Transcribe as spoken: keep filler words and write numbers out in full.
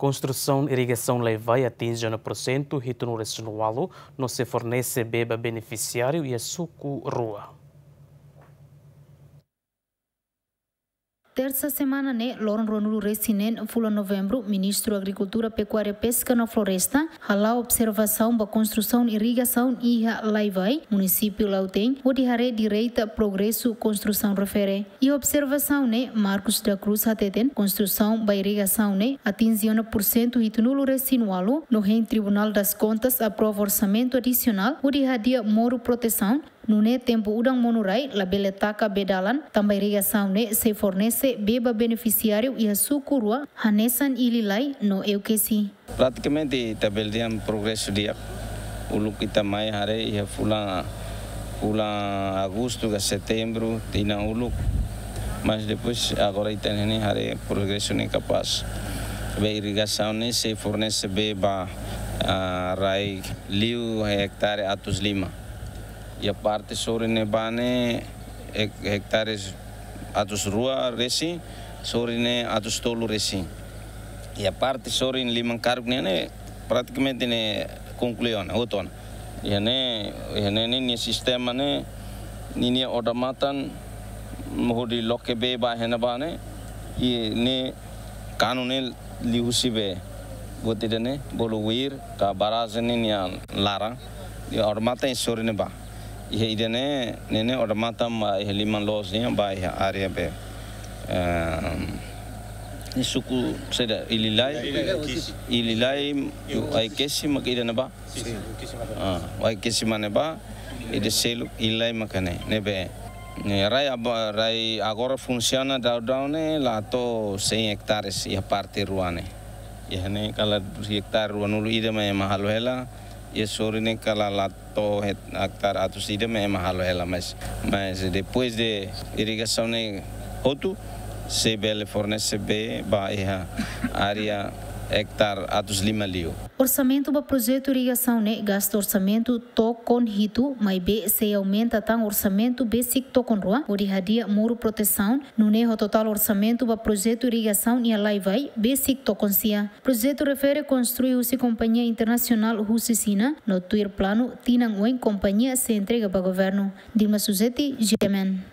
Konstrusaun irrigasaun Laivai atinje ona porsentu hitunulu-resin-ualu no sei fornese bee ba benefisiáriu iha suku rua. Tersa semana ne'e, loron ruanulu-resin-neen fulan Novembru, Ministru Agrikultura, Pekuária, Peska no Floresta hala'o observasaun ba konstrusaun irrigasaun iha Laivai, munisípiu Lautém, hodi haree direta progresu konstrusaun refere. Iha observasaun ne'e, Marcos da Cruz hateten, konstrusaun ba irrigasaun ne'e atinje ona porsentu hitunulu-resin-ualu, no hein Tribunal das Contas aprova orsamentu adisionál hodi hadi'a moru protesaun, nune'e tempu udan monu rai labele taka bee dalan, tanba irrigasaun ne'e sei fornese bee ba benefisiáriu iha suku rua, hanesan Ililai no Euqueche. Pratikamente ita bele dehan progresu di'ak. Uluk ita mai haree iha fulan, fulan Agostu ka Setembru tinan uluk. Mas depois agora ita ne'e haree progresu ne'e kapás. Bee irrigasaun ne'e sei fornese bee ba, ah, rai liu hektare atus lima. Iha parte sorin ne'ebá ne'e hek-, hektare atus rua resin, sorin ne'e atus tolu resin. Iha parte sorin liman karuk ne'e, ne'e pratikamente ne'e konklui ona, hotu ona. Iha ne'e, iha ne'e ninia sistema ne'e, ninia odamatan hodi loke bee ba iha ne'ebá ne'e, i ne'e kanu ne'e liuhusi bee. Buat ida-ne'e bolu uir ka barrajen ne'e nia laran. Iha odamatan iha sorin ne'ebá. Iha ida-ne'e, ne'e ne'e odamatan ba iha liman loos nian ba iha área bee. Ehm, iha suku saida, Ililai. Ililai, Ililai, Euqueche maka ida-ne'ebá. Sin. Ah, Euqueche mak ne'ebá, ida seluk Ililai maka ne'e, ne'ebé. Ne'e rai aba-, rai agora funsiona daudaun ne'e la to'o cem hectares iha parte rua ne'e. Iha ne'e kala hektare ruanulu ida mak ema halo hela, iha sorin ne'e kala la to'o het-, hektare atus ida mak ema halo hela, mas, mas depois de irrigasaun ne'e hotu, sei bele fornese bee ba iha área hektare atus lima liu. Orsamentu ba projetu irrigasaun ne'e gasta orsamentu tokon hitu, maibé sei aumenta tan orsamentu besik tokon rua, hodi hadi'a moru protesaun, nune'e ho totál orsamentu ba projetu irrigasaun iha Laivai besik tokon sia. Projetu refere konstrui husi kompañia internasionál husi Xina, no tuir planu tinan oin kompañia sei entrega ba governu. Dilma Suzeti, G M N.